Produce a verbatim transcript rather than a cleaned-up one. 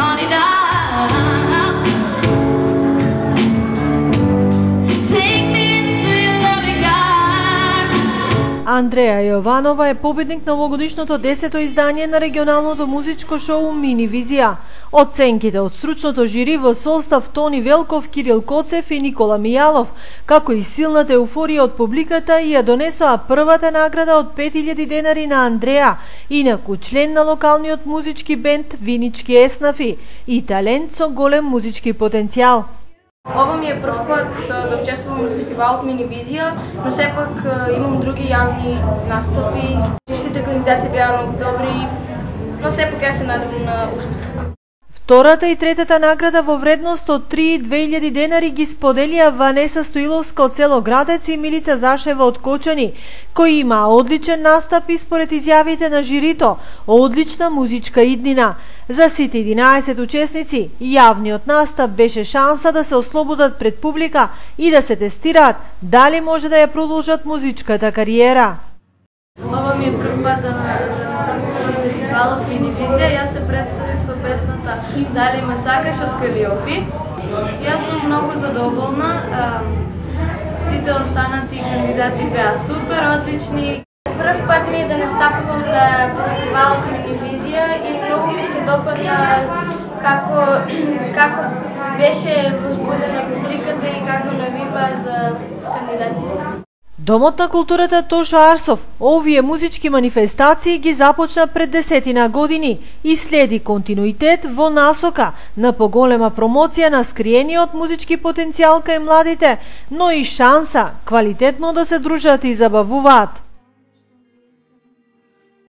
honey down. Take me into your loving arms. Андреја Јованова е победник на овогодишното десето издание на регионалното музичко шоу Мини Визија. Оценките од стручното жири во состав Тони Велков, Кирил Коцев и Никола Мијалов, како и силната еуфорија од публиката, ја донесоа првата награда од пет илјади денари на Андреја, инаку член на локалниот музички бенд Винички Еснафи и талент со голем музички потенцијал. Ова ми е прв пат да учествувам на фестивалот Мини Визија, но сепак имам други јавни настапи. Сите кандидати беа многу добри, но сепак ја се надевам на успех. Втората и третата награда во вредност од три и две илјади денари ги споделија Ванеса Стоиловска од село Градец и Милица Зашева од Кочани, кои имаа одличен настап и според изјавите на жирито, одлична музичка иднина. За сите единаесет учесници, јавниот настап беше шанса да се ослободат пред публика и да се тестираат дали може да ја продолжат музичката кариера. Ова ми е прв пат да настапувам на фестивалот Мини Визија. Јас се представив со песната Дали ме сакаш од Калиопи. Јас сум многу задоволна. Сите останати кандидати беа супер, одлични. Прв пат ми е да настапувам на фестивалот Мини Визија и многу ми се допадна како како беше возбудена публиката и како навива за кандидатите. Домот на културата Тошо Арсов овие музички манифестации ги започна пред десетина години и следи континуитет во насока на поголема промоција на скриениот музички потенцијал кај младите, но и шанса квалитетно да се дружат и забавуваат.